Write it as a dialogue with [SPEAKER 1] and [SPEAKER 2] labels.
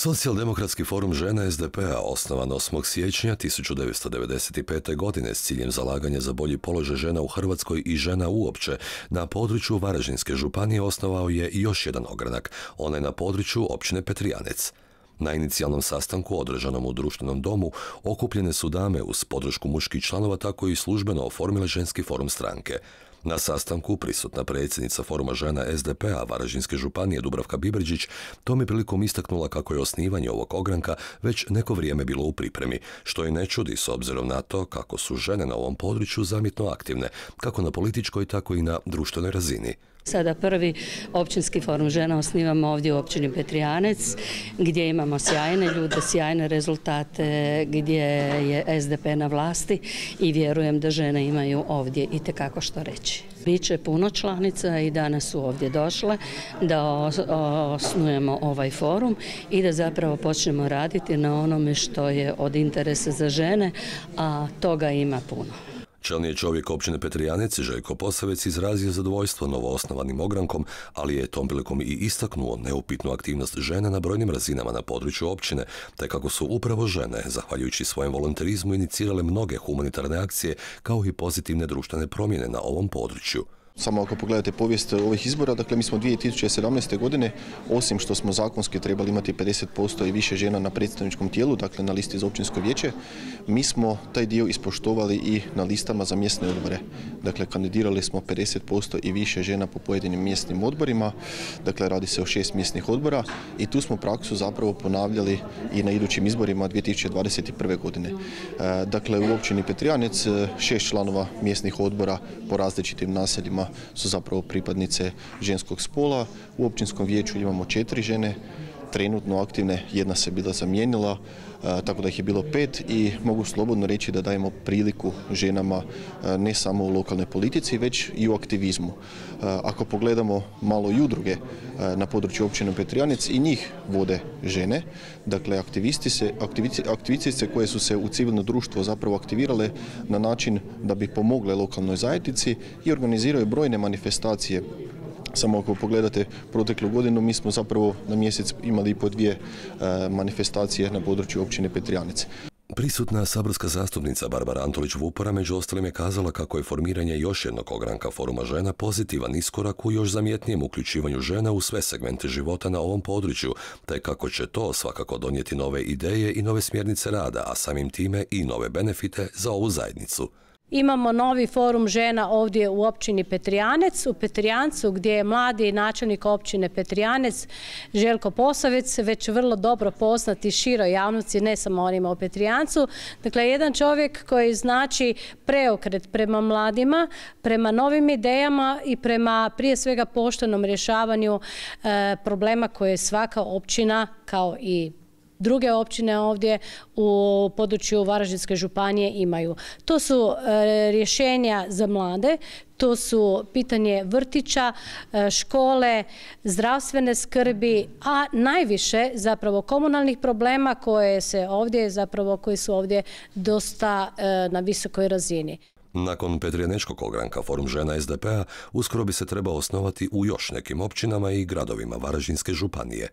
[SPEAKER 1] Socijaldemokratski forum žena SDP-a osnovan 8. siječnja 1995. godine s ciljem zalaganja za bolji položaj žena u Hrvatskoj i žena uopće na području Varaždinske županije osnovao je još jedan ogranak, onaj na području općine Petrijanec. Na inicijalnom sastanku održanom u društvenom domu okupljene su dame uz podršku muških članova tako i službeno oformile ženski forum stranke. Na sastanku prisutna predsjednica foruma žena SDP-a Varaždinske županije Dubravka Biberđić tom je prilikom istaknula kako je osnivanje ovog ogranka već neko vrijeme bilo u pripremi, što i ne čudi s obzirom na to kako su žene na ovom području zamjetno aktivne, kako na političkoj tako i na društvenoj razini.
[SPEAKER 2] Sada prvi općinski forum žena osnivamo ovdje u općini Petrijanec, gdje imamo sjajne ljude, sjajne rezultate, gdje je SDP na vlasti i vjerujem da žene imaju ovdje itekako što reći. Biće puno članica i danas su ovdje došle da osnujemo ovaj forum i da zapravo počnemo raditi na onome što je od interesa za žene, a toga ima puno.
[SPEAKER 1] Čelni čovjek općine Petrijanec, Željko Posavec, izrazio zadovoljstvo novoosnovanim ogrankom, ali je tom prilikom i istaknuo neupitnu aktivnost žena na brojnim razinama na području općine, te kako su upravo žene, zahvaljujući svojem volonterizmu, inicirale mnoge humanitarne akcije kao i pozitivne društvene promjene na ovom području.
[SPEAKER 3] Samo ako pogledate povijest ovih izbora, dakle mi smo 2017. godine, osim što smo zakonski trebali imati 50% i više žena na predstavničkom tijelu, dakle na listi za općinsko vijeće, mi smo taj dio ispoštovali i na listama za mjesne odbore. Dakle, kandidirali smo 50% i više žena po pojedinim mjesnim odborima, dakle radi se o 6 mjesnih odbora i tu smo praksu zapravo ponavljali i na idućim izborima 2021. godine. Dakle, u općini Petrijanec 6 članova mjesnih odbora po različitim naseljima su zapravo pripadnice ženskog spola. U općinskom vijeću imamo 4 žene, trenutno aktivne, jedna se bila zamijenila, tako da ih je bilo 5 i mogu slobodno reći da dajemo priliku ženama ne samo u lokalnoj politici, već i u aktivizmu. Ako pogledamo malo i udruge na području općine Petrijanec, i njih vode žene, dakle aktivistice koje su se u civilno društvo zapravo aktivirale na način da bi pomogle lokalnoj zajednici i organiziraju brojne manifestacije. Samo ako pogledate proteklu godinu, mi smo zapravo na mjesec imali i po 2 manifestacije na području općine Petrijanec.
[SPEAKER 1] Prisutna saborska zastupnica Barbara Antolić-Vupora među ostalim je kazala kako je formiranje još jednog ogranka foruma žena pozitivan iskorak u još zamjetnijem uključivanju žena u sve segmente života na ovom području, te kako će to svakako donijeti nove ideje i nove smjernice rada, a samim time i nove benefite za ovu zajednicu.
[SPEAKER 4] Imamo novi forum žena ovdje u općini Petrijanec, u Petrijancu, gdje je mladi načelnik općine Petrijanec Željko Posavec već vrlo dobro poznati široj javnosti, ne samo onima u Petrijancu. Dakle, jedan čovjek koji znači preokret prema mladima, prema novim idejama i prema prije svega poštenom rješavanju problema koje svaka općina kao i druge općine ovdje u području Varaždinske županije imaju. To su rješenja za mlade, to su pitanje vrtića, škole, zdravstvene skrbi, a najviše zapravo komunalnih problema koji su ovdje dosta na visokoj razini.
[SPEAKER 1] Nakon Petrijanečkog ogranka forum žena SDP-a uskoro bi se trebao osnovati u još nekim općinama i gradovima Varaždinske županije.